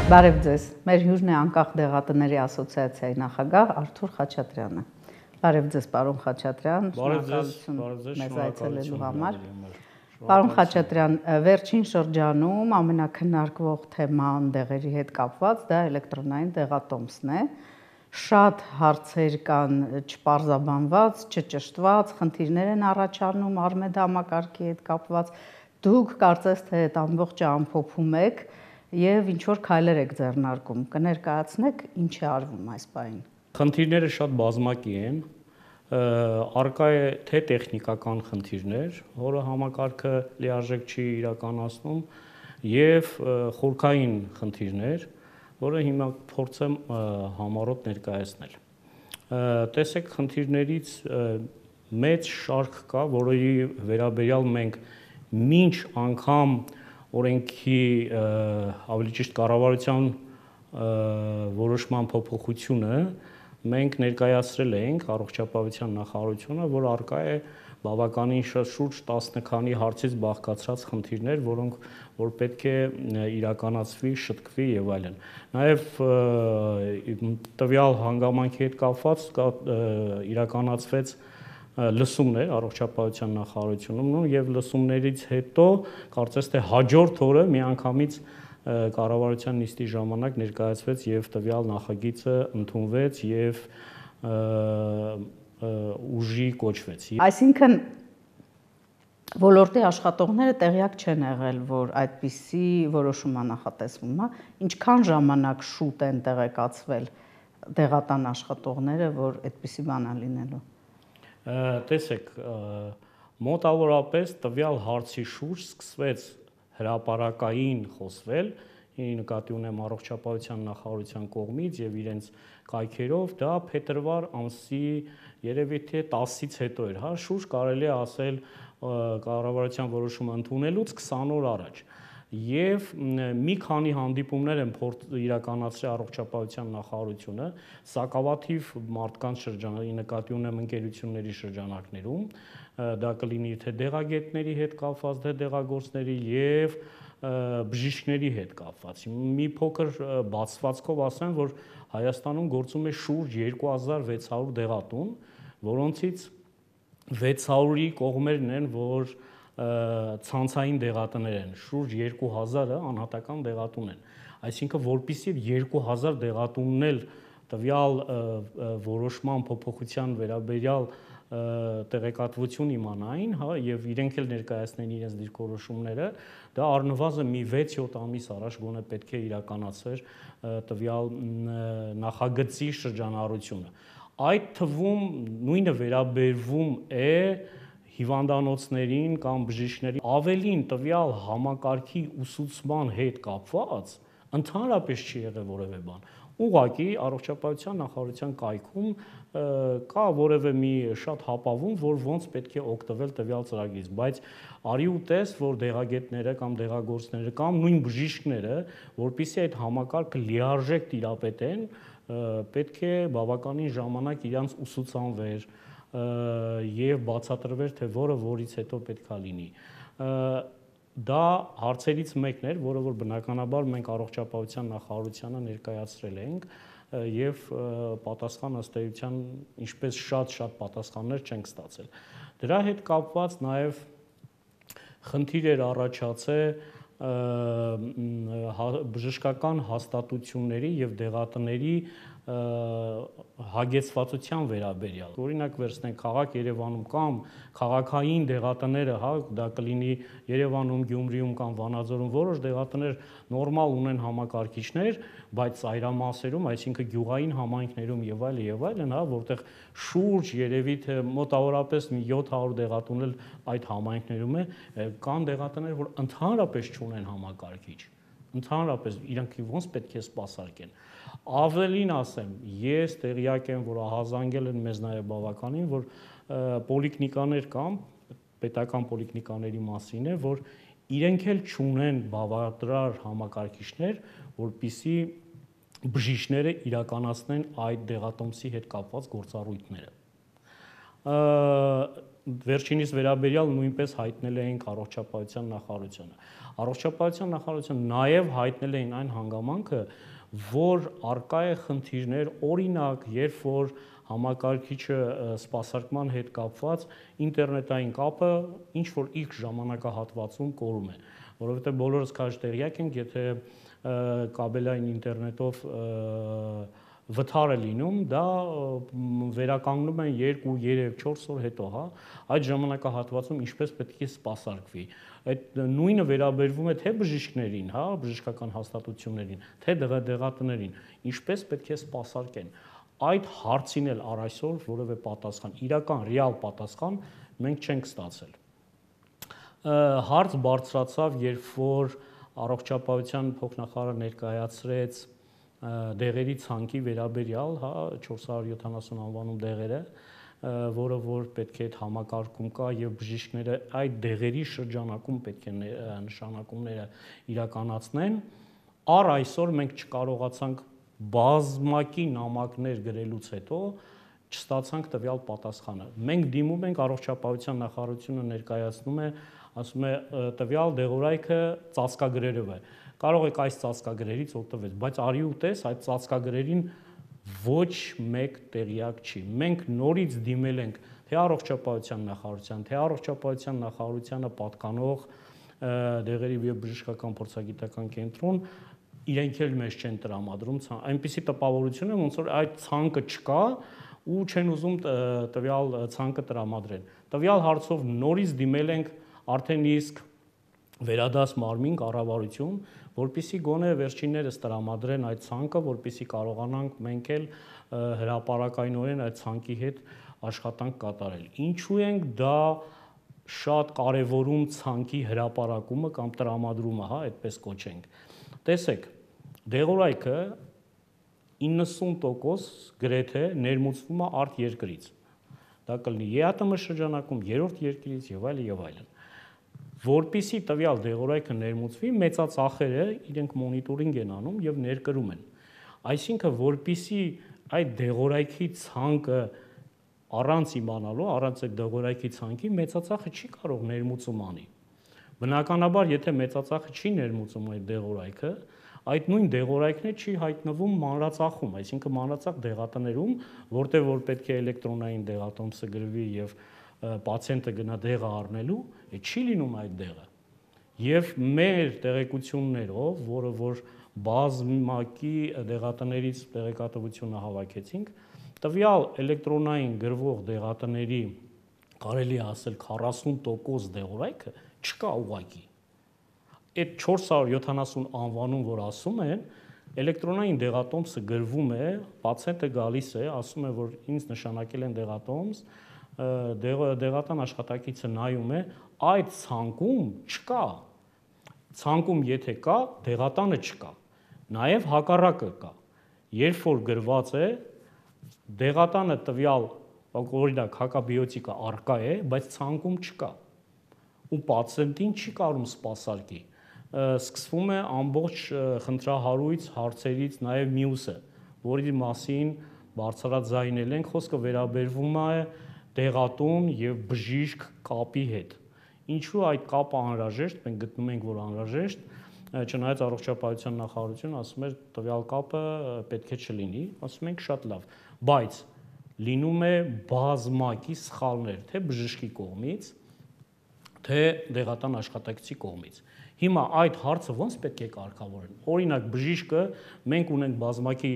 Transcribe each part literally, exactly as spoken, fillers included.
Բարև ձեզ, մեր հյուրն է անկախ դեղատների ասոցիացիայի նախագահ Արթուր Խաչատրյանը։ Բարև ձեզ, պարոն Խաչատրյան, շնորհակալություն մեզ այցելելու համար։ Պարոն Խաչատրյան, վերջին շրջանում ամենակննարկվող թեման դեղերի հետ կապված դա էլեկտրոնային դեղատոմսն է։ Շատ հարցեր կան չպարզաբանված, չճշտված, խնդիրներ են առաջանում արմեդ համակարգի հետ կապված։ Դուք կարծես թե այդ ամբողջը ամփոփում եք եւ ինչ որ քայլեր եք ձեռնարկում, կներկայացնեք ինչ է արվում այս պահին։ Խնդիրները շատ բազմակի են, առկա է թե տեխնիկական խնդիրներ, որը համակարգը լիարժեք չի իրականացնում, եւ խորքային խնդիրներ, որը հիմա փորձեմ համառոտ ներկայացնել։ Տեսեք, խնդիրներից մեծ շարք կա, որի վերաբերյալ մենք մինչ անգամ օրենքի ավելի ճիշտ կառավարության որոշման փոփոխությունը մենք ներկայացրել ենք առողջապահության նախարարությունը, որ առկա է բավականին շուրջ տասը քանի հարցից բաղկացած խնդիրներ, որոնք որ պետք է իրականացվի, շտկվի եւ այլն։ Նաեւ տվյալ հանգամանքի հետ կապված իրականացվեց լսումներ առողջապահության նախարարությունում եւ լսումներից հետո կարծես թե հաջորդ օրը միանգամից կառավարության նիստի ժամանակ ներկայացվեց եւ տվյալ նախագիծը ընդունվեց եւ ուժի կոչվեց։ Այսինքն ոլորտի աշխատողները տեղյակ չեն եղել, որ այդպիսի որոշում է նախատեսվում, հա, ինչքան ժամանակ շուտ են տեղեկացվել դեղատան աշխատողները, որ այդպիսի բան է լինելու։ Տեսեք, մոտավորապես տվյալ հարցի շուրջ սկսվեց հրապարակային խոսվել, նկատի ունեմ առողջապահության նախարարության կողմից եւ իրենց կայքերով, դա փետրվար ամսի երևի թե տասից հետո էր, հա, շուրջ կարելի է ասել կառավարության որոշումը ընդունելուց քսան օր առաջ։ Եվ մի քանի հանդիպումներ են իրականացրել առողջապահության նախարարությունը սակավաթիվ մարդկանց շրջանների, նկատի ունեմ ընկերությունների շրջանակներում, դա կլինի թե դեղագետների հետ կապված, թե դեղագործների եւ բժիշկների հետ կապված։ Մի փոքր բացվածքով ասեմ, որ Հայաստանում գործում է շուրջ երկու հազար վեց հարյուր դեղատուն, որոնցից վեց հարյուրի կողմերն են, որ ցանցային դեղատներ են, շուրջ երկու հազարը անհատական դեղատուն են։ Այսինքն, որպեսզի երկու հազար դեղատունն էլ տվյալ որոշման փոփոխության վերաբերյալ տեղեկատվություն իմանային, հա, եւ իրենք էլ ներկայացնեն իրենց դիրքորոշումները, դա առնվազն մի վեց-յոթ ամիս առաջ գոնե պետք է իրականացվեր տվյալ նախագծի շրջանառությունը։ Այդ թվում նույնը վերաբերվում է հիվանդանոցներին կամ բժիշկներին, ավելին տվյալ համակարգի ուսուցման հետ կապված ընդհանրապես չի եղել որևէ բան։ Ուղղակի առողջապահության նախարարության կայքում կա որևէ մի շատ հապավում, որ ոնց պետք է օգտվել տվյալ ծրագրից, բայց արի ու տես, որ դեղագետները կամ դեղագործները կամ նույն բժիշկները, որpիսի այդ համակարգը լիարժեք տիրապետեն, պետք է բավականին ժամանակ իրանց ուսուցանվեր եւ բացատրվեր, թե որը որից հետո պետքա լինի։ Դա հարցերից մեկն էր, որը որ բնականաբար մենք առողջապահության նախարարությանը ներկայացրել ենք եւ պատասխան ըստ էության ինչպես շատ-շատ պատասխաններ չենք ստացել։ Դրա հետ կապված նաեւ խնդիր էր առաջացել բժշկական հաստատությունների եւ դեղատների հագեցվածության վերաբերյալ։ Օրինակ վերցնենք քաղաք Երևանում կամ քաղաքային դեղատները, հա, դա կլինի Երևանում, Գյումրիում կամ Վանաձորում որոշ դեղատներ նորմալ ունեն համակարգիչներ, բայց ծայրամասերում, այսինքն գյուղային համայնքներում եւ այլ եւ այլն, հա, որտեղ շուրջ երևի թե մոտավորապես մի յոթ հարյուր դեղատուն էլ այդ համայնքներում է, կան դեղատներ, որ ընդհանրապես չունեն համակարգիչ։ Ընդհանրապես իրանք ոնց պետք է սպասարկեն։ Ավելին ասեմ, ես տեղյակ եմ, որ ահազանգել են մեզ նաև բավականին, որ պոլիկլինիկաներ կան, պետական պոլիկլինիկաների մասին է, որ իրենք էլ չունեն բավարար համակարգիչներ, որպեսզի բժիշկները իրականացնեն այդ դեղատոմսի հետ կապված գործառույթները։ վերջինիս վերաբերյալ նույնպես հայտնել էինք առողջապահության նախարարությանը։ Առողջապահության նախարարությունը նաև հայտնել էին այն հանգամանքը, որ արկա է խնդիրներ, օրինակ, երբ որ համակարգիչը սպասարկման հետ կապված ինտերնետային կապը ինչ որ X ժամանակահատվածում կորում է, որովհետև բոլորս քաջ տեղյակ ենք, եթե կաբելային ինտերնետով վթար է լինում, դա վերականգնում են երկու, երեք, չորս օր հետո, հա, այդ ժամանակահատվածում ինչպես պետք է սպասարկվի։ Այդ նույնը վերաբերվում է թե բժիշկներին, հա, բժշկական հաստատություններին, թե դեղատներին, ինչպես պետք է սպասարկեն։ Այդ հարցին էլ առ այսօր որևէ պատասխան, իրական ռեալ պատասխան մենք չենք ստացել։ Հարց բարձրացավ, երբ որ առողջապահության փոխնախարարը ներկայացրեց դեղերի ցանկի վերաբերյալ, հա, չորս հարյուր յոթանասուն անվանում դեղերը, որը որ պետք է այդ համակարգում կա եւ բժիշկները այդ դեղերի շրջանակում պետք է նշանակումները իրականացնեն, առ այսօր մենք չկարողացանք բազմակի նամակներ գրելուց հետո չստացանք տվյալ պատասխանը։ Մենք դիմում ենք առողջապահության նախարարությունը ներկայացնում է, ասում է տվյալ դեղորայքը ծածկագրերով է։ Կարող եք այս ծածկագրերից օգտվել, բայց արի ու տես այդ ծածկագրերին ոչ մեկ տեղյակ չի։ Մենք նորից դիմել ենք թե առողջապահության նախարարության, թե առողջապահության նախարարությանը պատկանող դեղերի եւ բժշկական փորձագիտական կենտրոն, իրենք էլ մեզ չեն տրամադրում, այնպիսի տպավորություն է, ոնց որ այդ ցանկը չկա ու չեն ուզում տվյալ ցանկը տրամադրեն։ Տվյալ հարցով նորից դիմել ենք արդեն իսկ վերադաս մարմին կառավարություն, որպեսզի գոնե վերջիններս տրամադրեն այդ ցանկը, որպեսզի կարողանանք մենք էլ հրապարակայնորեն այդ ցանկի հետ աշխատանք կատարել։ Ինչու ենք դա շատ կարևորում ցանկի հրապարակումը կամ տրամադրումը, հա, այդպես կոչենք։ Տեսեք, դեղորայքը իննսուն տոկոս գրեթե ներմուծվում է արտերկրից։ Դա կլինի ԵԱՏՄ շրջանակում, երրորդ երկրից եւ այլն եւ այլն։ Որպեսզի տվյալ դեղորայքը ներմուծվի, մեծածախերը իրենք մոնիտորինգ են անում եւ ներկրում են։ Այսինքն, որպեսզի այդ դեղորայքի ցանկը առանց իմանալու, առանց այդ դեղորայքի ցանկի մեծածախը չի կարող ներմուծում անի։ Բնականաբար, եթե մեծածախը չի ներմուծում այդ դեղորայքը, այդ նույն դեղորայքն է չի հայտնվում մանրածախում, այսինքն մանրածախ դեղատներում, որտեղ որ պետք է էլեկտրոնային դեղատոմսը գրվի եւ պացիենտը գնա դեղը առնելու, չի լինում այդ դեղը։ Եվ մեր տեղեկություններով, որը որ բազմակի դեղատներից տեղեկատվությունը հավաքեցինք, տվյալ էլեկտրոնային գրվող դեղատների կարելի է ասել քառասուն տոկոս դեղորայքը չկա ուղղակի։ Այդ չորս հարյուր յոթանասուն անվանում, որ ասում են, էլեկտրոնային դեղատոմսը գրվում է, պացիենտը գալիս է, ասում է, որ ինձ նշանակել են դեղատոմս, դեղատան աշխատակիցը նայում է, այդ ցանկում չկա։ Ցանկում եթե կա, դեղատանը չկա։ Նաև հակառակը կա։ Երբ որ գրված է, դեղատանը տվյալ, օրինակ, հակաբիոտիկը արկա է, բայց ցանկում չկա։ Ու պացիենտին չի կարող սպասարկի։ Սկսվում է ամբողջ խնդրահարույց հարցերից նաև մյուսը, որի մասին բարձրաձայնել ենք, խոսքը վերաբերվում է դեղատուն եւ բժիշկ կապի հետ։ Ինչու այդ կապը անհրաժեշտ, մենք գտնում ենք, որ անհրաժեշտ, չնայած առողջապահության նախարարությունը ասում էր տվյալ կապը պետք է չլինի, ասում ենք շատ լավ, բայց լինում է բազմակի սխալներ, թե բժշկի կողմից, թե դեղատան աշխատակցի կողմից։ Հիմա այդ հարցը ոնց պետք է կարգավորեն։ Օրինակ բժիշկը, մենք ունենք բազմակի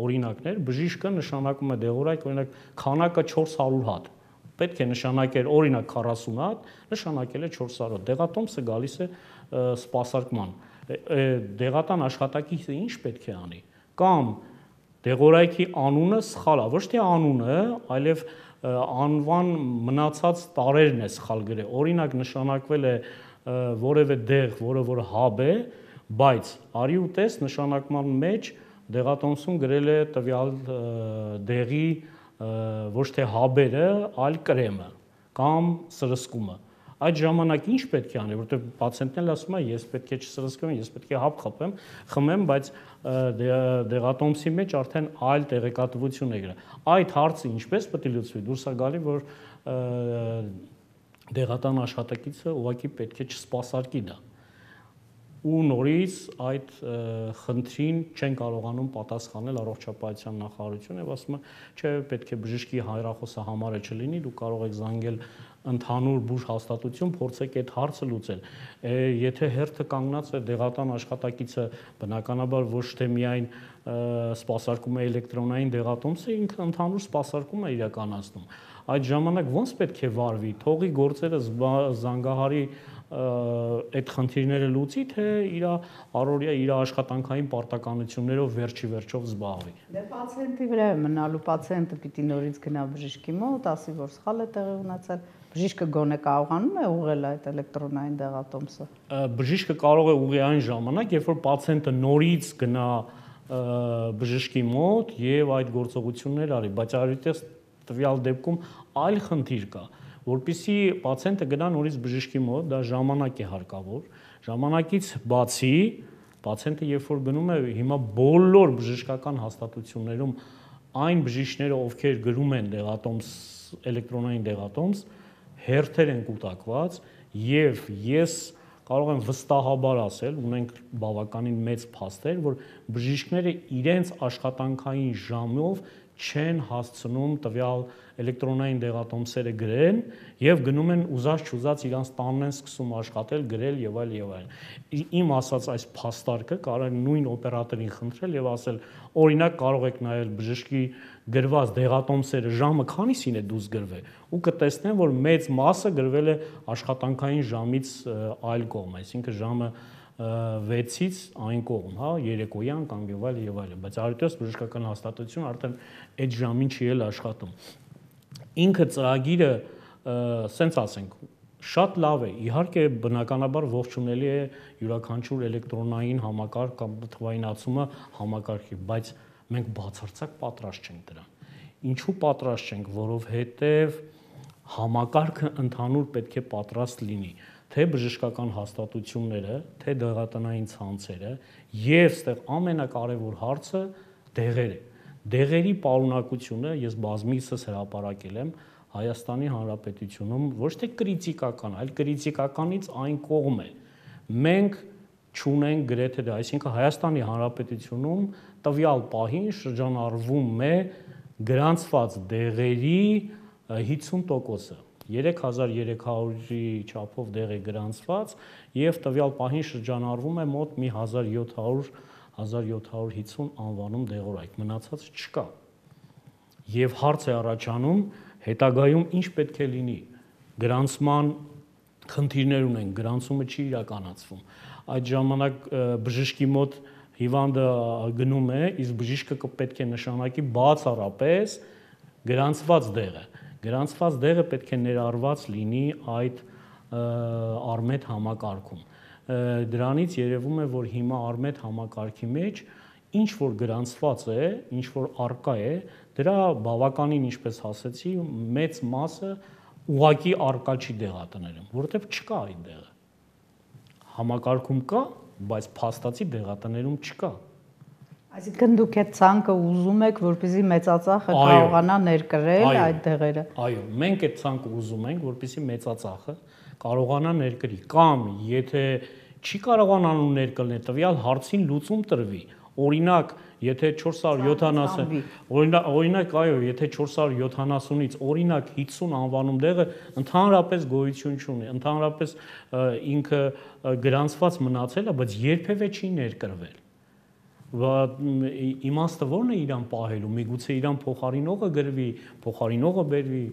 օրինակներ, բժիշկը նշանակում է դեղորայք, օրինակ քանակը չորս հարյուր հատ։ Պետք է նշանակել օրինակ քառասուն հատ, նշանակել է չորս հարյուր հատ։ Դեղատոմսը գալիս է սպասարկման։ Դեղատան աշխատակիցը ինչ պետք է անի։ Կամ դեղորայքի անունը սխալ է, ոչ թե անունը, այլև անվան մնացած տարերն է սխալ գրել։ Օրինակ նշանակվել է որևէ դեղ, որը որ հաբ է, բայց արի ու տես նշանակման մեջ դեղատոմսում գրել է տվյալ դեղի ոչ թե հաբերը, այլ կրեմը կամ սրսկումը։ Այդ ժամանակ ինչ պետք է անի, որովհետև պացիենտն էլ ասում է, ես պետք է չսրսկեմ, ես պետք է հաբ խփեմ, խմեմ, բայց դեղատոմսի մեջ արդեն այլ տեղեկատվություն է գրել։ Այդ հարցը ինչպես պետք է լուծվի, դուրս է գալի, որ դեղատան աշխատակիցը ուղղակի պետք է չսպասարկի դա։ Ու նորից այդ խնդրին չեն կարողանում պատասխանել առողջապահության նախարարությունը եւ ասում է, չէ, պետք է բժշկի հայրախոսը համարը չլինի, դուք կարող եք զանգել ընդհանուր բուժ հաստատություն, փորձեք այդ հարցը լուծել։ Եթե հերթը կանգնած է դեղատան աշխատակիցը բնականաբար ոչ թե միայն սպասարկում է էլեկտրոնային դեղատոմսը, ինքը ընդհանուր սպասարկում է իրականացնում։ Այդ ժամանակ ո՞նց պետք է վարվի, թողի գործերը զանգահարի այդ խնդիրները լուծի, թե իր առօրյա իր աշխատանքային պարտականություններով վերջի վերջով զբաղվի։ Դե պացիենտի վրա է մնալու, պացիենտը պիտի նորից գնա բժշկի մոտ, ասի, որ սխալ է տեղի ունեցել, բժիշկը գոնե կարողանում է ուղղել այդ էլեկտրոնային դեղատոմսը։ Բժիշկը կարող է ուղղի այն ժամանակ, երբ որ պացիենտը նորից գնա բժշկի մոտ եւ այդ գործողությունները արի, բայց այդտեղ տվյալ դեպքում այլ խնդիր կա, որpիսի պացիենտը գնա նորից բժշկի մոտ, դա ժամանակ է հարկավոր, ժամանակից բացի պացիենտը երբ որ գնում է հիմա բոլոր բժշկական հաստատություններում այն բժիշկները, ովքեր գրում են դեղատոմս, էլեկտրոնային դեղատոմս, հերթեր են կուտակված եւ ես կարող եմ վստահաբար ասել, ունենք բավականին մեծ փաստեր, որ բժիշկները իրենց աշխատանքային ժամով չեն հասցնում տվյալ էլեկտրոնային դեղատոմսերը գրեն եւ գնում են ուզած չուզած իրանց տանն են սկսում աշխատել, գրել եւ այլ եւ այլ։ Իմ ասած այս փաստարկը կարող է նույն օպերատորին խնդրել եւ ասել, օրինակ կարող եք նայել բժշկի գրված դեղատոմսերը ժամը քանիսին է դուրս գրվել ու կտեսնեն, որ մեծ մասը գրվել է աշխատանքային ժամից այլ կողմ, այսինքն ժամը վեցից այն կողմ, հա, երեկոյան կամ եւ այլ եւ այլ, բայց այդտեղ բժշկական հաստատությունը արդեն այդ ժամին չի էլ աշխատում։ Ինքը ծրագիրը, սենց ասենք, շատ լավ է, իհարկե բնականաբար ողջունելի է յուրաքանչյուր էլեկտրոնային համակարգ կամ թվայնացումը համակարգի, բայց մենք բացարձակ պատրաստ չենք դրան։ Ինչու պատրաստ չենք, որովհետև համակարգը ընդհանուր պետք է պատրաստ լինի, թե բժշկական հաստատությունները, թե դեղատնային ցանցերը եւ ստեղ ամենակարևոր հարցը դեղերը։ Դեղերի պարունակությունը ես բազմիցս հրապարակել եմ Հայաստանի Հանրապետությունում ոչ թե կրիտիկական, այլ կրիտիկականից այն կողմ է։ Մենք չունենք գրեթե դա, այսինքն Հայաստանի Հանրապետությունում տվյալ պահին շրջանառվում է գրանցված դեղերի հիսուն տոկոսը։ երեք հազար երեք հարյուրի չափով դեղ է գրանցված եւ տվյալ պահին շրջանառվում է մոտ մի հազար յոթ հարյուր հազար յոթ հարյուր հիսուն անվանում դեղորայք, մնացածը չկա։ Եվ հարց է առաջանում, հետագայում ինչ պետք է լինի։ Գրանցման խնդիրներ ունեն, գրանցումը չի իրականացվում։ Այդ ժամանակ բժշկի մոտ հիվանդը գնում է, իսկ բժիշկը պետք է նշանակի բացառապես գրանցված դեղը։ Գրանցված դեղը պետք է ներառված լինի այդ Արմեդ համակարգում։ Դրանից երևում է, որ հիմա Արմեդ համակարգի մեջ ինչ որ գրանցված է, ինչ որ արկա է, դրա բավականին, ինչպես ասեցի, մեծ մասը ուղակի արկա չի դեղատներում, որովհետև չկա այդ դեղը։ Համակարգում կա, բայց փաստացի դեղատներում չկա։ Այսինքն դուք այդ ցանկը ուզում եք, որպեսզի մեծածախը կարողանա ներկրել այդ դեղերը։ Այո, մենք այդ ցանկը ուզում ենք, որպեսզի մեծածախը կարողանա ներկրի, կամ եթե չի կարողանալու ներկրել, տվյալ հարցին լուծում տրվի։ Օրինակ, եթե չորս հարյուր յոթանասուն, օրինակ, օրինակ, այո, եթե չորս հարյուր յոթանասունից օրինակ հիսուն անվանում դեղը ընդհանրապես գոյություն չունի, ընդհանրապես ինքը գրանցված մնացել է, բայց երբևէ չի ներկրվել։ Իմաստը ո՞րն է իրան պահելու, միգուցե իրան փոխարինողը գրվի, փոխարինողը բերվի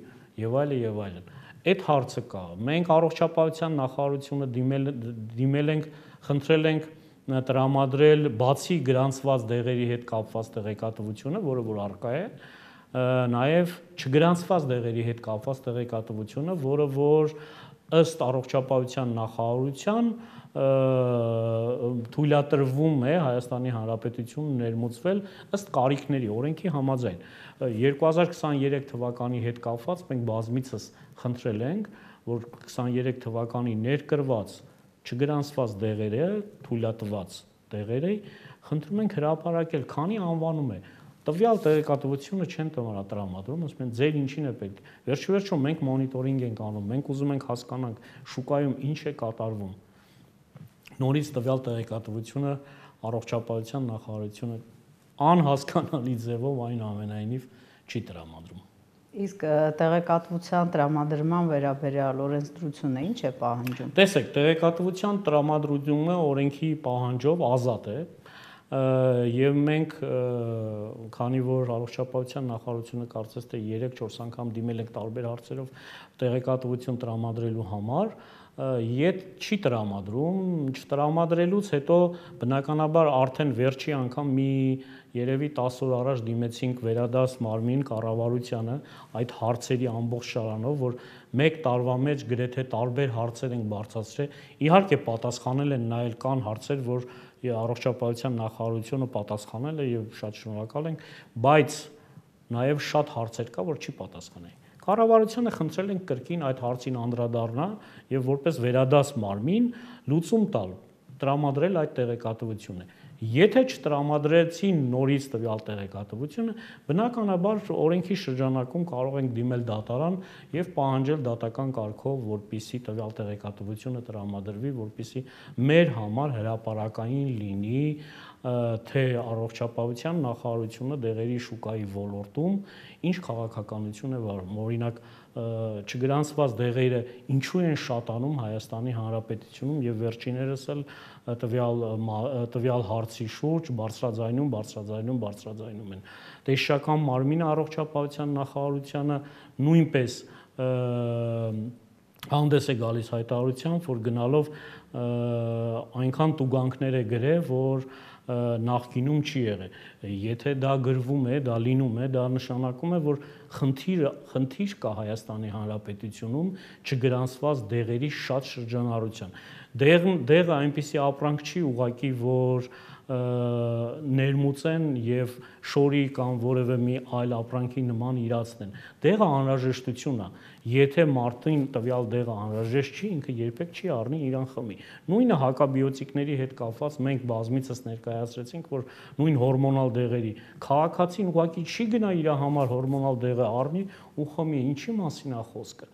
եւ այլն եւ այլն։ Այդ հարցը կա։ Մենք առողջապահության նախարարությունը դիմել դիմել ենք, խնդրել ենք տրամադրել բացի գրանցված դեղերի հետ կապված տեղեկատվությունը, որը որ առկա է, նաեւ չգրանցված դեղերի հետ կապված տեղեկատվությունը, որը որ ըստ առողջապահության նախարարության թույլատրվում է Հայաստանի Հանրապետությունում ներմուծվել ըստ կարիքների, օրենքի համաձայն։ երկու հազար քսաներեք թվականի հետ կապված մենք բազմիցս խնդրել ենք, որ քսաներեք թվականի ներկրված չգրանցված դեղերը, թույլատրված դեղերը, խնդրում ենք հրապարակել, քանի անվանում է։ տվյալ տեղեկատվությունը չեն տրամադրում, ասում են ձեր ինչին է պետք։ Վերջիվերջո մենք մոնիտորինգ ենք անում, մենք ուզում ենք հասկանանք շուկայում ինչ է կատարվում։ Նորից տվյալ տեղեկատվությունը առողջապահության նախարարությունը անհասկանալի ձևով այնուամենայնիվ չի տրամադրում։ Իսկ տեղեկատվության տրամադրման վերաբերյալ օրենսդրությունը ինչ է պահանջում։ Տեսեք, տեղեկատվության տրամադրումը օրենքի պահանջով ազատ է, եւ մենք քանի որ առողջապահության նախարարությունը կարծես թե երեք-չորս անգամ դիմել ենք տարբեր հարցերով տեղեկատվություն տրամադրելու համար, ետ չի տրամադրում, չտրամադրելուց հետո բնականաբար արդեն վերջի անգամ մի երևի տասը օր առաջ դիմեցինք Վերադաս մարմին կառավարությանը այդ հարցերի ամբողջ շարանով, որ մեկ տարվա մեջ գրեթե տարբեր հարցեր ենք բարձրացրել, իհարկե պատասխանել են, նայել կան հարցեր, որ առողջապահության նախարարությունը պատասխանել է եւ շատ շնորհակալ ենք, բայց նաեւ շատ հարցեր կա, որ չի պատասխանել։ Կառավարությանը խնդրել ենք կրկին այդ հարցին անդրադառնա եւ որպես Վերադաս մարմին լուծում տալ, տրամադրել այդ տեղեկատվությունը։ Եթե չտրամադրեցին նորից տվյալ տեղեկատվությունը, բնականաբար օրենքի շրջանակում կարող ենք դիմել դատարան եւ պահանջել դատական կարգով, որպիսի տվյալ տեղեկատվությունը տրամադրվի, որպիսի մեր համար հրապարակային լինի, թե առողջապահության նախարարությունը դեղերի շուկայի ոլորտում ինչ քաղաքականություն է վարում։ Օրինակ, չգրանցված դեղերը ինչու են շատանում Հայաստանի Հանրապետությունում եւ վերջիներս էլ տվյալ տվյալ հարցի շուրջ բարձրաձայնում, բարձրաձայնում, բարձրաձայնում են։ Տեսչական մարմինը առողջապահության նախարարությանը նույնպես հանդես է գալիս հայտարարությամբ, որ գնալով այնքան տուգանքներ է գրել, որ նախկինում չի եղել։ Եթե դա գրվում է, դա լինում է, դա նշանակում է, որ խնդիր խնդիր կա Հայաստանի Հանրապետությունում չգրանցված դեղերի շատ շրջանառության։ Դեղ դեղը այնպիսի ապրանք չի ուղղակի, որ ներմուծեն եւ շորի կամ որևէ մի այլ ապրանքի նման իրացնեն։ Դեղը անհրաժեշտություն է։ Եթե մարդին տվյալ դեղը անհրաժեշտ չի, ինքը երբեք չի առնի իրան խմի։ Նույնը հակաբիոտիկների հետ կապված մենք բազմիցս ներկայացրեցինք, որ նույն հորմոնալ դեղերի քաղաքացին ուղղակի չի գնա իր համար հորմոնալ դեղը առնի ու խմի, ինչի մասին է խոսքը։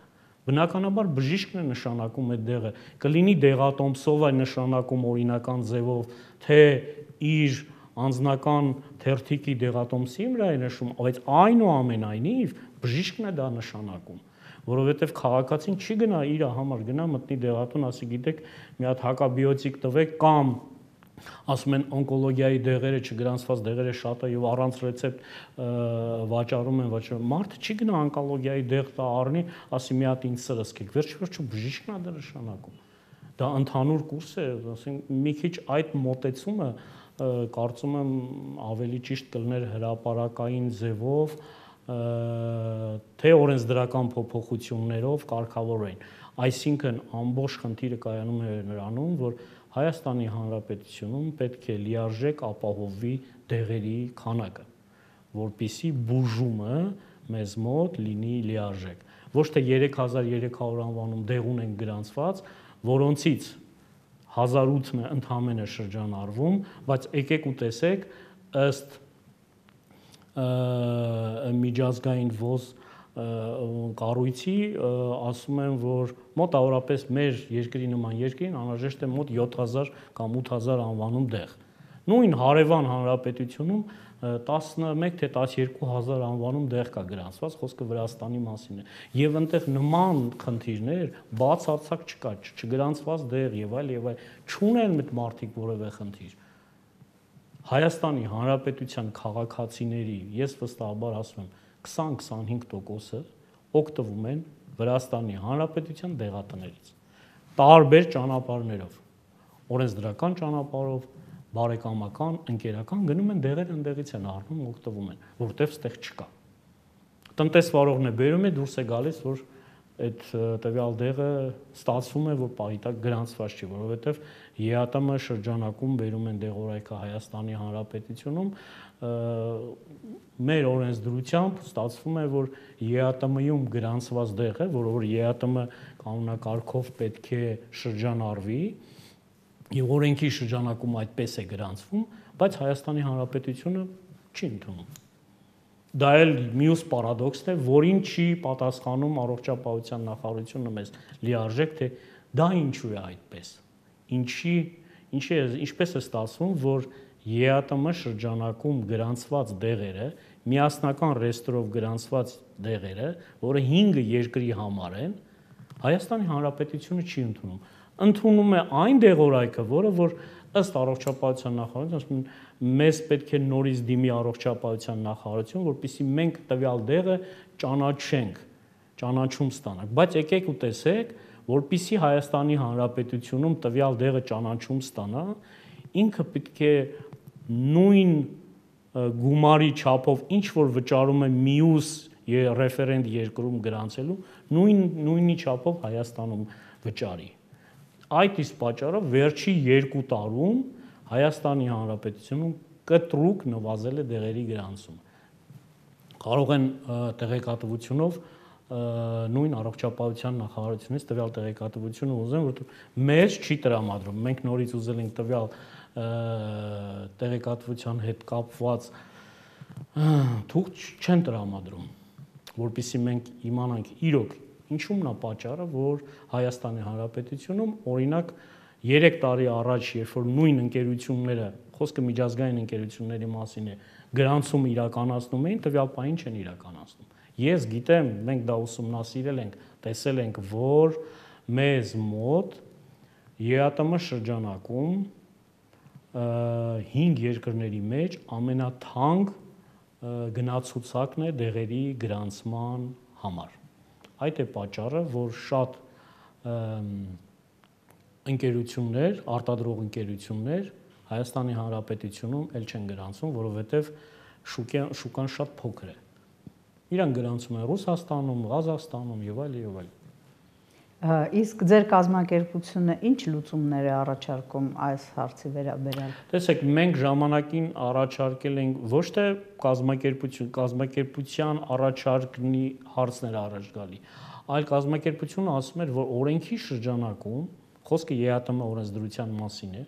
Բնականաբար բժիշկն է նշանակում այդ դեղը, կլինի դեղատոմսով է նշանակում օրինական ձևով, թե իր անձնական թերթիկի դեղատոմսի վրա է նշում, բայց այնուամենայնիվ բժիշկն է դա նշանակում, որովհետև քաղաքացին չի գնա իր համար գնա մտնի դեղատուն, ասի գիտեք, մի հատ հակաբիոտիկ տվեք կամ ասում են օնկոլոգիայի դեղերը չգրանցված դեղերը շատ է եւ առանց ռեցեպտ վաճառում են վաճառում։ Մարդը չի գնա օնկոլոգիայի դեղ տա առնի, ասի մի հատ ինձ սրսկեք։ Վերջ-վերջո բժիշկն է դա նշանակում։ Դա ընդհանուր կուրս է, ասենք մի քիչ այդ մոտեցումը կարծում եմ ավելի ճիշտ կլներ հրապարակային ձևով, թե օրենսդրական փոփոխություններով կարգավորեն։ Այսինքն ամբողջ խնդիրը կայանում է նրանում, որ Հայաստանի Հանրապետությունում պետք է լիարժեք ապահովվի դեղերի քանակը, որպիսի բուժումը մեզ մոտ լինի լիարժեք։ Ոչ թե երեք հազար երեք հարյուր անվանում դեղ ունենք գրանցված, որոնցից հազար ութն է ընդամենը շրջանառվում, բայց եկեք ու տեսեք ըստ միջազգային ՈԶ կառույցի ասում են, որ մոտավորապես մեր երկրի նման երկրին անհրաժեշտ է մոտ յոթ հազար կամ ութ հազար անվանում դեղ։ Նույն հարևան հանրապետությունում տասնմեկ թե տասներկու հազար անվանում դեղ կա գրանցված, խոսքը Վրաստանի մասին է։ Եվ այնտեղ նման խնդիրներ բացարձակ չկա, չգրանցված դեղ եւ այլ եւ այլ, չունեն այդ մարդիկ որևէ խնդիր։ Հայաստանի Հանրապետության քաղաքացիների, ես վստահաբար ասում եմ, քսան-քսանհինգ տոկոսը օգտվում են Վրաստանի Հանրապետության դեղատներից տարբեր ճանապարհներով, օրենսդրական ճանապարհով, բարեկամական, ընկերական գնում են դեղեր ընդեղից են առնում, օգտվում են, որտեվ ստեղ չկա։ Տնտեսվարողն է բերում է, դուրս է գալիս, որ այդ տվյալ դեղը ստացվում է, որ պահիտակ գրանցված չի, որովհետև ԵԱՏՄ շրջանակում բերում են դեղորայքը Հայաստանի Հանրապետությունում, մեր օրենսդրությամբ ստացվում է, որ ԵԱՏՄ-ում գրանցված դեղը, որ ԵԱՏՄ կանոնակարգով պետք է շրջանառվի, եւ օրենքի շրջանակում այդպես է գրանցվում, բայց Հայաստանի Հանրապետությունը չի ընդունում։ դա էլ մյուս պարադոքսն է, որին չի պատասխանում առողջապահության նախարարությունը մեզ լիարժեք, թե դա ինչու է այդպես։ Ինչի, ինչի է, ինչպես է ստացվում, որ ԵԱՏՄ շրջանակում գրանցված դեղերը, միասնական ռեեստրով գրանցված դեղերը, որը հինգ երկրի համար են, Հայաստանի Հանրապետությունը չի ընդունում։ Ընդունում է այն դեղորայքը, որը որ ըստ առողջապահության նախարարության ասում են, մեզ պետք է նորից դիմի առողջապահության նախարարություն, որպեսզի մենք տվյալ դեղը ճանաչենք, ճանաչում ստանանք, բայց եկեք ու տեսեք, որպեսզի Հայաստանի Հանրապետությունում տվյալ դեղը ճանաչում ստանա, ինքը պետք է նույն գումարի չափով ինչ որ վճարում է մյուս ռեֆերենտ երկրում գրանցելու, նույն նույնի չափով Հայաստանում վճարի։ Այդ իսկ պատճառով վերջի երկու տարում Հայաստանի Հանրապետությունում կտրուկ նվազել է դեղերի գրանցումը։ Կարող են տեղեկատվությունով նույն առողջապահության նախարարությունից տվյալ տեղեկատվությունը ուզեն, որովհետև մեզ չի տրամադրում։ Մենք նորից ուզել ենք տվյալ տեղեկատվության հետ կապված թուղթ չեն տրամադրում, որպեսզի մենք իմանանք իրոք ինչումն է պատճառը, որ Հայաստանի Հանրապետությունում օրինակ երեք տարի առաջ, երբ որ նույն ընկերությունները, խոսքը միջազգային ընկերությունների մասին է, գրանցումը իրականացնում էին, տվյալ պահին չեն իրականացնում։ Ես գիտեմ, մենք դա ուսումնասիրել ենք, տեսել ենք, որ մեզ մոտ ԵԱՏՄ շրջանակում հինգ երկրների մեջ ամենաթանկ գնացուցակն է դեղերի գրանցման համար։ Այդ է պատճառը, որ շատ ընկերություններ, արտադրող ընկերություններ Հայաստանի Հանրապետությունում էլ չեն գրանցում, որովհետև շուկան շատ փոքր է։ Իրանք գրանցում են Ռուսաստանում, Ղազախստանում եւ այլ եւ այլ։ Իսկ ձեր կազմակերպությունը ինչ լուծումներ է առաջարկում այս հարցի վերաբերյալ։ Տեսեք, մենք ժամանակին առաջարկել ենք ոչ թե կազմակերպություն, կազմակերպության առաջարկնի հարցներ առաջ գալի, այլ կազմակերպությունը ասում էր, որ օրենքի շրջանակում, խոսքը ԵԱՏՄ օրենսդրության մասին է,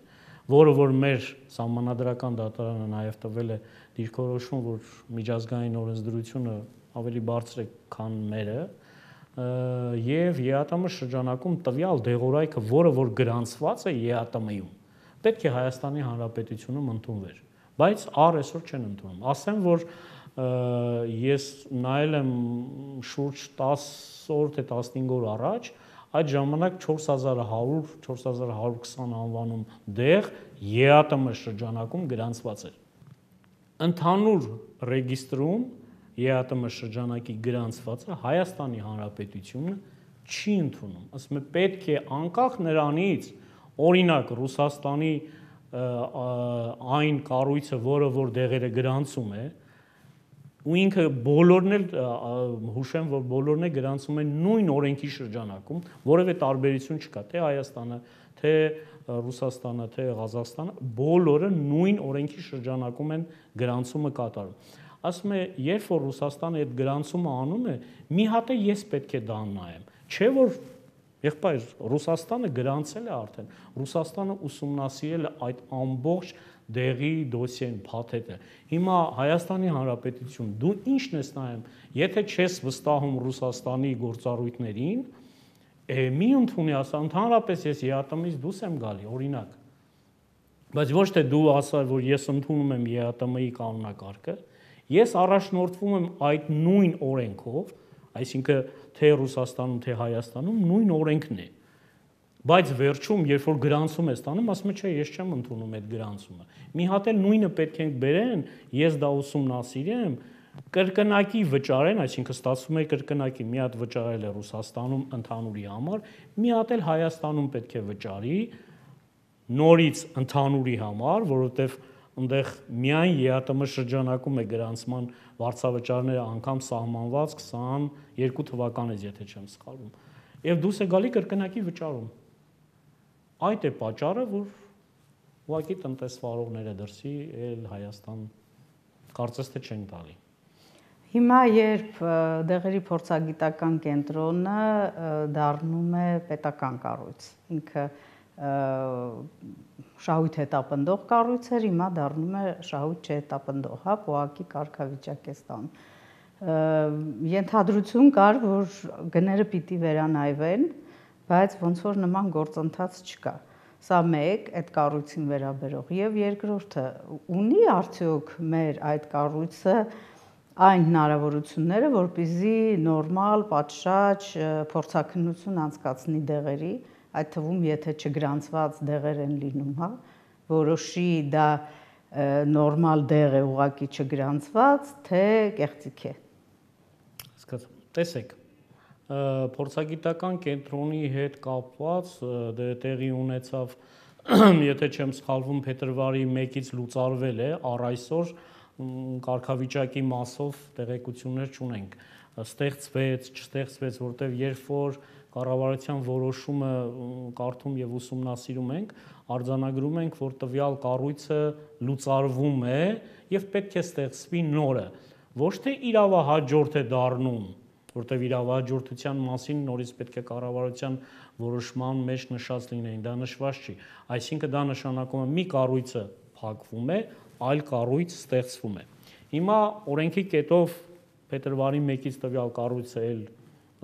որը որ մեր սահմանադրական դատարանը նաև տվել է դիրքորոշում, որ միջազգային օրենսդրությունը ավելի բարձր է, քան մերը, եւ ԵԱՏՄ շրջանակում տվյալ դեղորայքը, որը որ գրանցված է ԵԱՏՄ-ում, պետք է Հայաստանի Հանրապետությունում ընդունվեր, բայց առ այսօր չեն ընդունում։ Ասեմ, որ ես նայել եմ շուրջ տասը օր թե տասնհինգ օր առաջ, այդ ժամանակ չորս հազար հարյուր չորս հազար հարյուր քսան անվանում դեղ ԵԱՏՄ շրջանակում գրանցված էր։ Ընդհանուր ռեգիստրում ԵԱՏՄ շրջանակի գրանցվածը Հայաստանի Հանրապետությունը չի ընդունում։ Ասում է պետք է անկախ նրանից, օրինակ Ռուսաստանի այն կառույցը, որը որ դեղերը գրանցում է, ու ինքը բոլորն էլ հուշեմ, որ բոլորն է գրանցում են նույն օրենքի շրջանակում, որևէ տարբերություն չկա, թե Հայաստանը, թե Ռուսաստանը, թե Ղազախստանը, բոլորը նույն օրենքի շրջանակում են գրանցումը կատարում։ Ասում է, երբ որ Ռուսաստանը այդ գրանցումը անում է, մի հատ է ես պետք է դա նայեմ, չէ որ եղբայր Ռուսաստանը գրանցել է արդեն, Ռուսաստանը ուսումնասիրել է այդ ամբողջ դեղի դոսիեն, փաթեթը։ Հիմա Հայաստանի Հանրապետություն, դու ի՞նչն ես նայում, եթե չես վստահում Ռուսաստանի գործառույթներին, մի ընդունի ասա, ընդհանրապես ես ԵԱՏՄ-ից դուրս եմ գալի, օրինակ։ Բայց ոչ թե դու ասա, որ ես ընդունում եմ ԵԱՏՄ-ի կանոնակարգը, ես առաջնորդվում եմ այդ նույն օրենքով, այսինքն թե Ռուսաստանում, թե Հայաստանում նույն օրենքն է։ Բայց վերջում, երբ որ գրանցում ես տանում, ասում է, չէ, ես չեմ ընդունում այդ գրանցումը։ Մի հատ էլ նույնը պետք է բերեն, ես դա ուսումնասիրեմ, կրկնակի վճարեն, այսինքն ստացվում է կրկնակի, մի հատ վճարել է Ռուսաստանում ընդհանուրի համար, մի հատ էլ Հայաստանում պետք է վճարի նորից ընդհանուրի համար, որովհետև այնտեղ միայն ԵԱՏՄ շրջանակում է գրանցման վարձավճարները անգամ սահմանված քսաներկու թվականից, եթե չեմ սխալվում, եւ դուրս է գալի կրկնակի վճարում։ Այդ է պատճառը, որ ուղղակի տնտեսվարողները դրսի էլ Հայաստան կարծես թե չեն տալի։ Հիմա երբ դեղերի փորձագիտական կենտրոնը դառնում է պետական կառույց, ինքը շահույթ հետապնդող կառույց էր, հիմա դառնում է շահույթ չհետապնդող, հա, փողակի կարգավիճակ է ստանում։ Ենթադրություն կար, որ գները պիտի վերանայվեն, բայց ոնց որ նման գործընթաց չկա։ Սա մեկ այդ կառույցին վերաբերող եւ երկրորդը ունի արդյոք մեր այդ կառույցը այն հնարավորությունները, որպեսզի նորմալ, պատշաճ փորձաքննություն անցկացնի դեղերի, այդ թվում եթե չգրանցված դեղեր են լինում, հա, որոշի դա նորմալ դեղ է ուղղակի չգրանցված, թե կեղծիք է։ Հասկացա։ Տեսեք, փորձագիտական կենտրոնի հետ կապված դե տեղի ունեցավ, եթե չեմ սխալվում, փետրվարի մեկից լուծարվել է, առ այսօր կարգավիճակի մասով տեղեկություններ չունենք, ստեղծվեց, չստեղծվեց, որտեղ երբ որ կառավարության որոշումը կարդում եւ ուսումնասիրում ենք, արձանագրում ենք, որ տվյալ կառույցը լուծարվում է եւ պետք է ստեղծվի նորը, ոչ թե իրավահաջորդ է դառնում, որտեղ իրավահաջորդության մասին նորից պետք է կառավարության որոշման մեջ նշած լինեին, դա նշված չի, այսինքն դա նշանակում է մի կառույցը փակվում է, այլ կառույց ստեղծվում է։ Հիմա օրենքի կետով փետրվարի մեկից տվյալ կառույցը էլ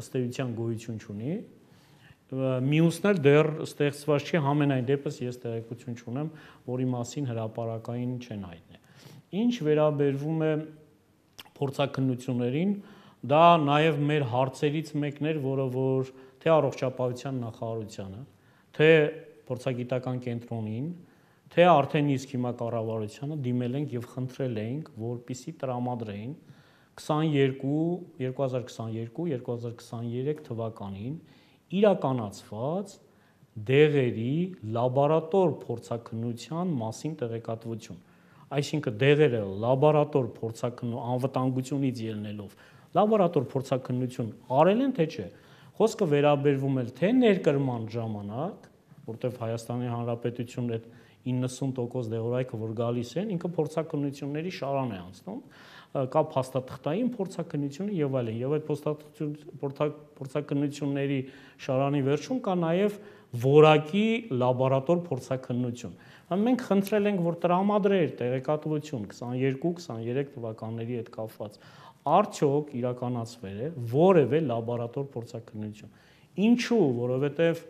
ըստ էության գոյություն չունի, մյուսն էլ դեռ ստեղծված չի, համենայն դեպս ես տեղեկություն չունեմ, որի մասին հրապարակային չեն հայտնել։ Ինչ վերաբերվում է փորձաքննություններին, դա նաև մեր հարցերից մեկն էր, որը որ թե առողջապահության նախարարությանը, թե փորձագիտական կենտրոնին, թե արդեն իսկ հիմա կառավարությանը դիմել ենք եւ խնդրել ենք, որպիսի տրամադրեին քսաներկու երկու հազար քսաներկու երկու հազար քսաներեք թվականին իրականացված դեղերի լաբորատոր փորձաքննության մասին տեղեկատվություն, այսինքն դեղերը լաբորատոր փորձաքննություն անվտանգությունից ելնելով լաբորատոր փորձաքննություն արել են թե չէ, խոսքը վերաբերվում է թե ներկրման ժամանակ, որտեղ Հայաստանի Հանրապետությունն այդ իննսուն տոկոս դեղորայքը որ գալիս են, ինքը փորձաքննությունների շարան է անցնում, կա փաստաթղթային փորձաքննությունը եւ այլն, եւ այդ փորձաքննությունների շարանի վերջում կա նաեւ որակի լաբորատոր փորձաքննություն։ Մենք խնդրել ենք, որ տրամադրեր տեղեկատվություն քսաներկու քսաներեք թվականների հետ կապված, արդյոք իրականացվել է որևէ լաբորատոր փորձաքննություն։ Ինչու, որովհետև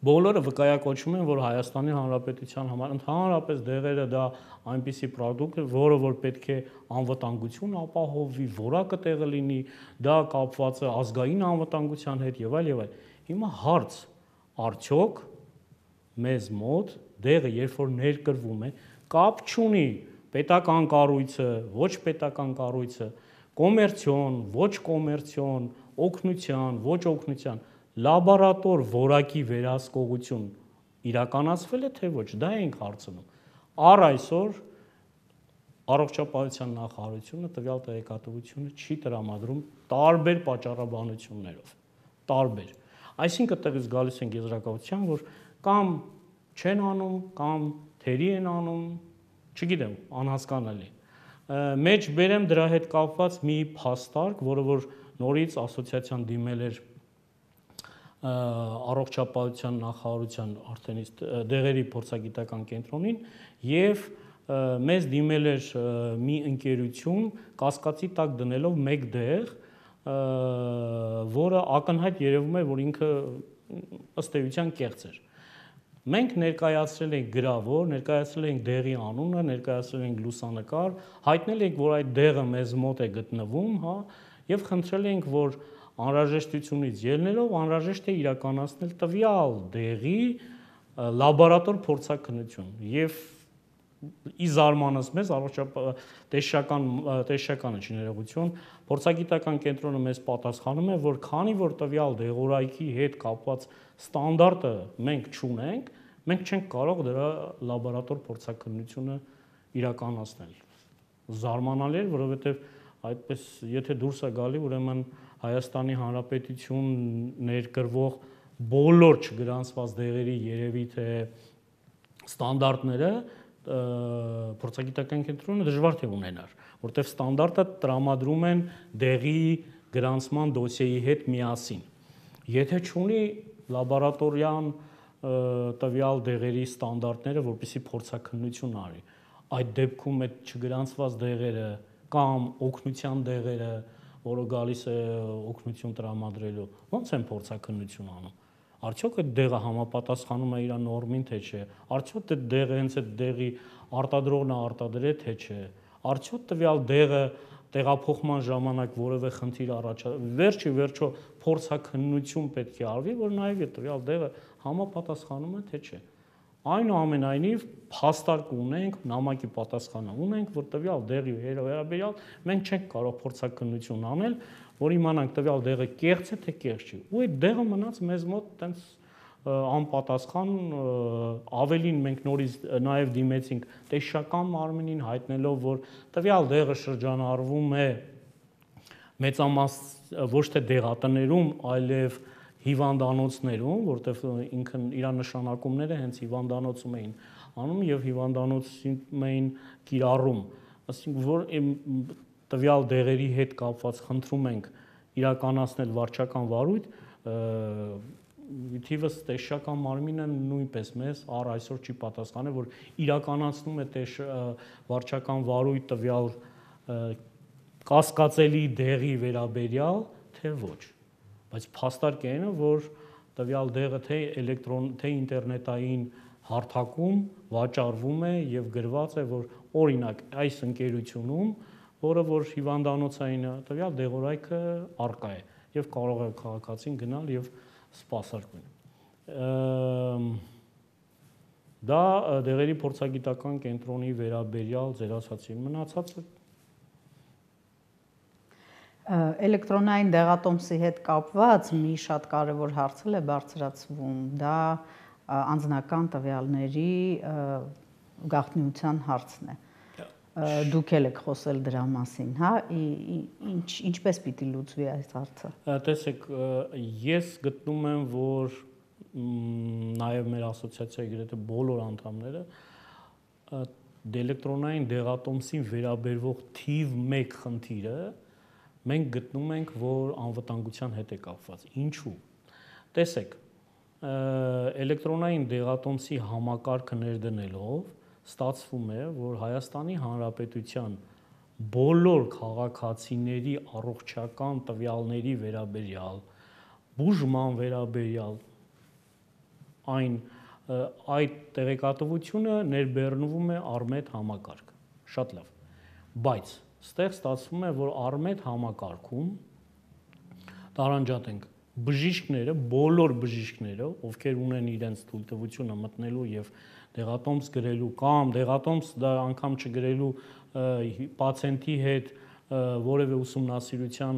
բոլորը վկայակոչում են, որ Հայաստանի Հանրապետության համար ընդհանրապես դեղերը դա այնպիսի պրոդուկտ է, որը որ պետք է անվտանգություն ապահովի, որակը տեղը լինի, դա կապված է ազգային անվտանգության հետ եւ այլ եւ այլ։ Հիմա հարց, արդյոք մեզ մոտ դեղը երբ որ ներկրվում է, կապ չունի պետական կառույցը, ոչ պետական կառույցը, կոմերցիոն, ոչ կոմերցիոն, օգնության, ոչ օգնության, լաբորատոր որակի վերահսկողություն իրականացվել է թե ոչ, դա ենք հարցնում։ Առ այսօր առողջապահության նախարարությունը տվյալ տեղեկատվությունը չի տրամադրում տարբեր պատճառաբանություններով, տարբեր։ Այսինքն տեղից գալիս են եզրակացության, որ կամ չեն անում, կամ թերի են անում, չգիտեմ, անհասկանալի։ Մեջ բերեմ դրա հետ կապված մի փաստարկ, որը որ նորից ասոցիացիան դիմել էր առողջապահության նախարարության արդեն իսկ դեղերի փորձագիտական կենտրոնին եւ մեզ դիմել էր մի ընկերություն կասկածի տակ դնելով մեկ դեղ, որը ակնհայտ երևում է, որ ինքը ըստ էության կեղծ էր։ Մենք ներկայացրել ենք գրավոր, ներկայացրել ենք դեղի անունը, ներկայացրել ենք լուսանկար, հայտնել ենք, որ այդ դեղը մեզ մոտ է գտնվում, հա, եւ խնդրել ենք, որ անհրաժեշտությունից ելնելով անհրաժեշտ է իրականացնել տվյալ դեղի լաբորատոր փորձաքննություն եւ ի զարմանս մեզ առողջապահական տեսչականը չներողություն փորձագիտական կենտրոնը մեզ պատասխանում է, որ քանի որ տվյալ դեղորայքի հետ կապված ստանդարտը մենք չունենք, մենք չենք կարող դրա լաբորատոր փորձաքննությունը իրականացնել։ Զարմանալի էր, որովհետև այդպես եթե դուրս է գալի, ուրեմն Հայաստանի Հանրապետություն ներկրվող բոլոր չգրանցված դեղերի երևի թե ստանդարտները փորձագիտական կենտրոնը դժվար թե ունենար, որտեղ ստանդարտը տրամադրում են դեղի գրանցման դոսիեի հետ միասին։ Եթե չունի լաբորատորիան տվյալ դեղերի ստանդարտները, որպեսզի փորձաքննություն արի, այդ դեպքում այդ չգրանցված դեղերը կամ օգնության դեղերը, որը գալիս է օգնություն տրամադրելու, ո՞նց են փորձաքննություն անում։ Արդյոք այդ դեղը համապատասխանում է իր նորմին, թե չէ։ Արդյոք այդ դեղը հենց այդ դեղի արտադրողն է արտադրել, թե չէ։ Արդյոք տվյալ դեղը տեղափոխման ժամանակ որևէ խնդիր առաջացավ։ Վերջի վերջո փորձաքննություն պետք է արվի, որ նայվի տվյալ դեղը համապատասխանում է, թե չէ։ Այնուամենայնիվ փաստարկ ունենք, նամակի պատասխանը ունենք, որ տվյալ դեղի վերաբերյալ մենք չենք կարող փորձաքննություն անել, որ իմանանք տվյալ դեղը կեղծ է թե կեղծ չի։ Ու այդ դեղը մնաց մեզ մոտ տենց անպատասխան, ավելին մենք նորից նաև դիմեցինք տեսչական մարմնին, հայտնելով, որ տվյալ դեղը շրջանառվում է մեծամաս ոչ թե դեղատներում, այլև հիվանդանոցներում, որտեղ ինքն իր նշանակումները հենց հիվանդանոցում էին անում եւ հիվանդանոցում էին կիրառում, ասենք որ տվյալ դեղերի հետ կապված խնդրում ենք իրականացնել վարչական վարույթ, թիվս տեսչական մարմինը նույնպես մեզ առ այսօր չի պատասխանել, որ իրականացնում է վարչական վարույթ տվյալ կասկածելի դեղի վերաբերյալ, թե ոչ։ Բայց փաստարկ է այն, որ տվյալ դեղը թե էլեկտրոն, թե ինտերնետային հարթակում վաճառվում է եւ գրված է, որ օրինակ այս ընկերությունում, որը որ հիվանդանոցային տվյալ դեղորայքը առկա է եւ կարող է քաղաքացին գնալ եւ սպասարկել։ Դա դեղերի փորձագիտական կենտրոնի վերաբերյալ ձեր ասացին, մնացածը Էլեկտրոնային դեղատոմսի հետ կապված մի շատ կարևոր հարց է բարձրացվում, դա անձնական տվյալների գաղտնիության հարցն է։ Դուք եք խոսել դրա մասին, հա, ինչ ինչպես պիտի լուծվի այս հարցը։ Տեսեք, ես գտնում եմ, որ նաև մեր ասոցիացիայի գրեթե բոլոր անդամները էլեկտրոնային դեղատոմսին վերաբերվող թիվ մեկ խնդիրը մենք գտնում ենք, որ անվտանգության հետ է կապված։ Ինչու՞։ Տեսեք, էլեկտրոնային դեղատոմսի համակարգը ներդնելով ստացվում է, որ Հայաստանի Հանրապետության բոլոր քաղաքացիների առողջական տվյալների վերաբերյալ, բուժման վերաբերյալ այն այդ տեղեկատվությունը ներբեռնվում է Արմեդ համակարգ։ Շատ լավ։ Բայց ստեղ ստացվում է, որ Արմեդ համակարգում տարանջատենք բժիշկները, բոլոր բժիշկները, ովքեր ունեն իրենց թույլտվությունը մտնելու եւ դեղատոմս գրելու կամ դեղատոմս դա անգամ չգրելու պացիենտի հետ որևէ ուսումնասիրության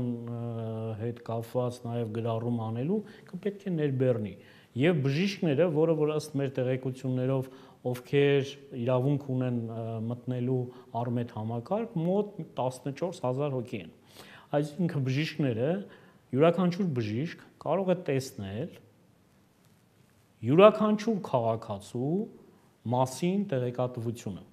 հետ կապված նաև գրառում անելու, պետք է ներբեռնի։ Եվ բժիշկները, որը որ ըստ մեր տեղեկություններով, ովքեր իրավունք ունեն մտնելու Արմեդ համակարգ, մոտ տասնչորս հազար հոգի են։ Այսինքն բժիշկները, յուրաքանչյուր բժիշկ կարող է տեսնել յուրաքանչյուր քաղաքացու մասին տեղեկատվությունը։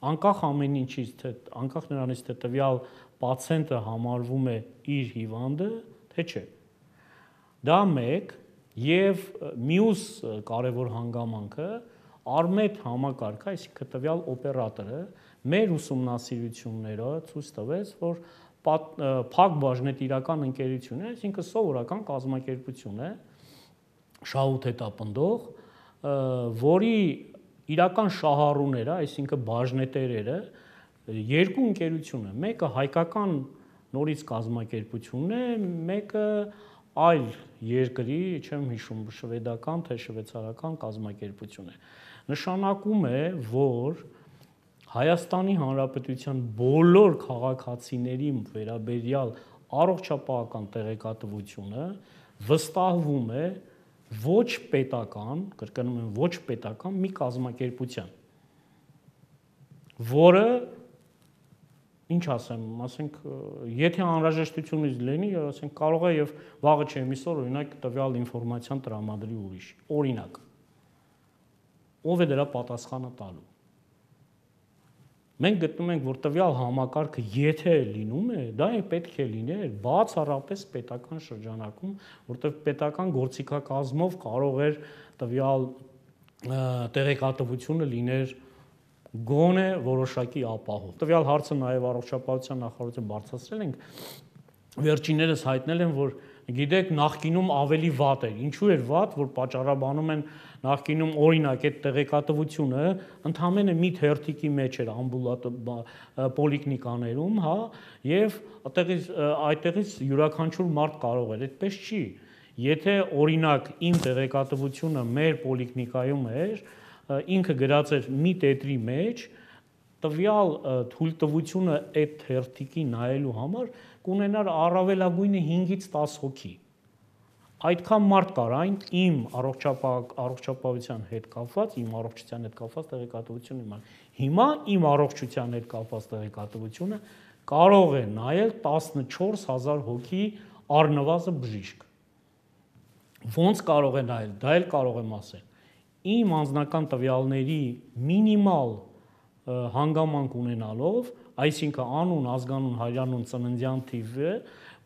Անկախ ամեն ինչից, թե անկախ նրանից, թե տվյալ պացիենտը համարվում է իր հիվանդը, թե չէ։ Դա մեկ, եւ մյուս կարևոր հանգամանքը Արմեդ համակարգը, այսինքն տվյալ օպերատորը մեր ուսումնասիրությունները ցույց տվեց, որ փակ բաժնետիրական ընկերություն է, այսինքն սովորական կազմակերպություն է, շահութ հետապնդող, որի իրական շահառուները, այսինքն բաժնետերերը երկու ընկերություն է, մեկը հայկական նորից կազմակերպություն է, մեկը այլ երկրի, չեմ հիշում, շվեդական թե շվեյցարական կազմակերպություն է։ Նշանակում է, որ Հայաստանի Հանրապետության բոլոր քաղաքացիների վերաբերյալ առողջապահական տեղեկատվությունը վստահվում է ոչ պետական, կրկնում եմ, ոչ պետական մի կազմակերպության, որը ինչ ասեմ, ասենք, եթե անհրաժեշտությունից լինի, ասենք, կարող է եւ վաղը չեմ իսօր, օրինակ, տվյալ ինֆորմացիան տրամադրի ուրիշ, օրինակ, ով է դրա պատասխանը տալու։ Մենք գտնում ենք, որ տվյալ համակարգը եթե լինում է, դա է պետք է լիներ բացառապես պետական շրջանակում, որտեղ պետական գործիքակազմով կարող էր տվյալ տեղեկատվությունը լիներ գոնե որոշակի ապահով։ Տվյալ հարցը նաև առողջապահության նախարարության բարձրացրել ենք, վերջիններս հայտնել են, որ գիտեք, նախկինում ավելի վատ էր։ Ինչու էր վատ, որ պատճառաբանում են նախկինում օրինակ այդ տեղեկատվությունը ընդհանրապես մի թերթիկի մեջ էր ամբուլատ պոլիկլինիկաներում, հա, եւ այդտեղից այդտեղից յուրաքանչյուր մարդ կարող էր, այդպես չի։ Եթե օրինակ իմ տեղեկատվությունը մեր պոլիկլինիկայում էր, ինքը գրած էր մի տետրի մեջ, տվյալ թույլտվությունը այդ թերթիկի նայելու համար կունենար առավելագույնը հինգից տաս հոգի։ Այդքան մարդ կար այն իմ առողջապահության հետ կապված, իմ առողջության հետ կապված տեղեկատվությունը իմանալ։ Հիմա իմ առողջության հետ կապված տեղեկատվությունը կարող է նայել տասնչորս հազար հոգի առնվազն բժիշկ։ Ոնց կարող է նայել, դա էլ կարող եմ ասել։ Իմ անձնական տվյալների մինիմալ հանգամանք ունենալով, այսինքն անուն, ազգանուն, հայրանուն, ծննդյան թիվը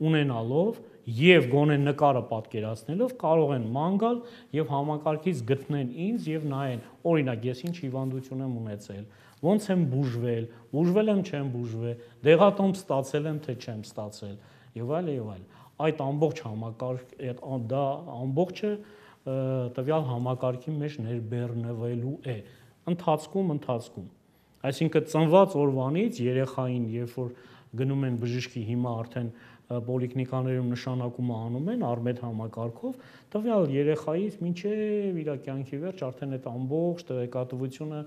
ունենալով եւ գոնե նկարը պատկերացնելով կարող են ման գալ եւ համակարգից գտնեն ինձ եւ նայեն, օրինակ ես ինչ հիվանդություն եմ ունեցել, ոնց եմ բուժվել, բուժվել եմ, չեմ բուժվել, դեղատոմ ստացել եմ, թե չեմ ստացել եւ այլ եւ այլ։ Այդ ամբողջ համակարգ դա ամբողջը տվյալ համակարգի մեջ ներբեռնվելու է ընթացքում ընթացքում այսինքն ծնված օրվանից երեխային երբ որ գնում են բժշկի հիմա արդեն պոլիկլինիկաներում նշանակումը անում են արմետ համակարգով տվյալ երեխայից մինչև իր կյանքի վերջ արդեն այդ ամբողջ տեղեկատվությունը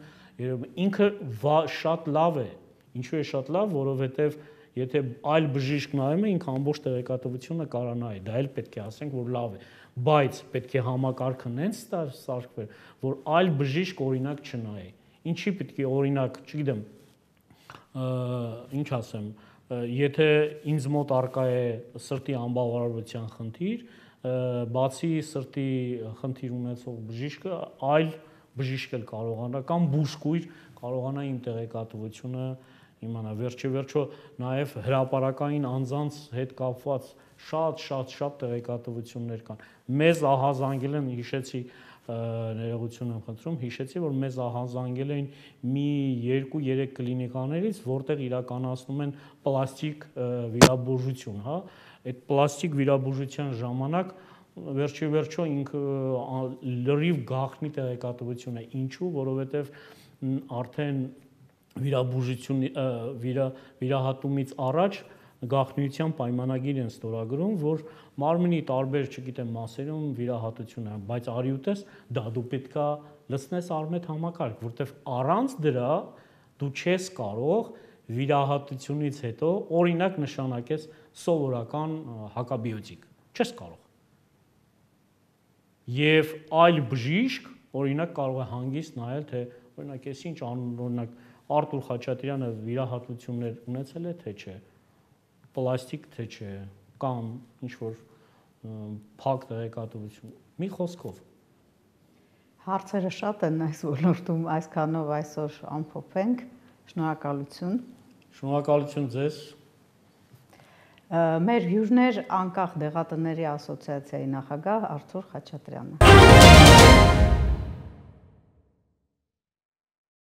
ինքը շատ լավ է ինչու է շատ լավ որովհետև եթե այլ բժիշկ նայում է ինքը ամբողջ տեղեկատվությունը կարա նայի դա էլ պետք է ասենք որ լավ է բայց պետք է համակարգը նենց սարքվեր, որ այլ բժիշկ օրինակ չնայի։ Ինչի պետք է օրինակ, չգիտեմ, ինչ ասեմ, եթե ինձ մոտ առկա է սրտի անբավարարության խնդիր, բացի սրտի խնդիր ունեցող բժիշկը, այլ բժիշկ էլ կարողանա կամ բուժքույր կարողանա իմ տեղեկատվությունը իմանա վերջի վերջո նաև հրապարակային անձանց հետ կապված շատ շատ շատ տեղեկատվություններ կան։ Մեզ ահազանգել են, հիշեցի, ներողություն եմ խնդրում, հիշեցի, որ մեզ ահազանգել էին մի երկու երեք կլինիկաներից, որտեղ իրականացնում են պլաստիկ վիրաբուժություն, հա, այդ պլաստիկ վիրաբուժության ժամանակ վերջի վերջո ինքը լրիվ գաղտնի տեղեկատվություն է, ինչու, որովհետև արդեն վիրաբուժություն վիրա վիրահատումից առաջ գաղտնիության պայմանագիր են ստորագրում, որ մարմնի տարբեր, չգիտեմ, մասերում վիրահատություն է, բայց արի ու տես, դա դու պետքա լցնես արմետ համակարգ, որտեվ առանց դրա դու չես կարող վիրահատությունից հետո օրինակ նշանակես սովորական հակաբիոտիկ, չես կարող։ Եվ այլ բժիշկ օրինակ կարող է հանգիստ նայել, թե օրինակ ես ինչ օրինակ Արտուր Խաչատրյանը վիրահատություններ ունեցել է, թե չէ, պլաստիկ, թե չէ, կամ ինչ-որ փակ տեղեկատվություն, մի խոսքով։ Հարցերը շատ են այս ոլորտում, այսքանով այսօր ամփոփենք, շնորհակալություն։ Շնորհակալություն ձեզ։ Մեր հյուրներ անկախ դեղատների ասոցիացիայի նախագահ Արթուր Խաչատրյանը։